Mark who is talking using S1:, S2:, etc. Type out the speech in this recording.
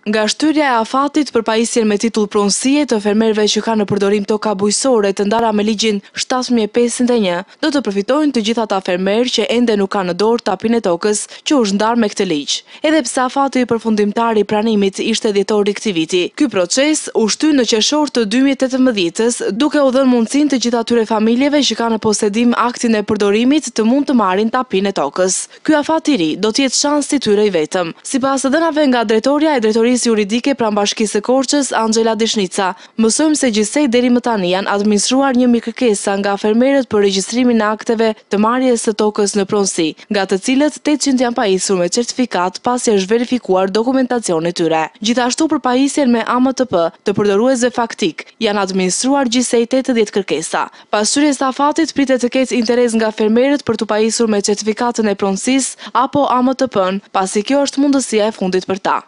S1: Nga shtyrja e afatit për pajisjen me titull pronësie të fermerëve që kanë në përdorim toka bujqësore të ndara me ligjin 7501, do të përfitojnë të gjithë ata fermerë që ende nuk kanë në dorë tapinë e tokës që u është ndarë me këtë ligj. Edhe pse afati përfundimtar i pranimit ishte dhjetori i këtij viti, ky proces u shty në qershor të 2018-ës, duke u dhënë mundësinë të gjithë atyre familjeve që kanë në posedim aktin e përdorimit të mund të marrin tapinë e tokës. Ky afat i ri do të jetë shansi i tyre i vetëm. Sipas të dhënave nga drejtorja e Drejtorisë Juridike pranë Bashkisë së Korçës, Anxhela Dishnica, mësojmë se gjithsej deri më tani janë administruar 1000 kërkesa nga fermerët për regjistrimin e akteve të marrjes së tokës në pronësi, nga të cilët 800 janë pajisur me certifikatë pasi është verifikuar dokumentacioni i tyre. Gjithashtu për pajisjen me AMTP të përdoruesve faktikë, janë administruar gjithsej 80 kërkesa. Pas shtyrjes së afatit, pritet të ketë interes nga fermerët për t'u pajisur me certifikatën e pronësisë apo AMTP-në, pasi kjo është mundësia e fundit për ta.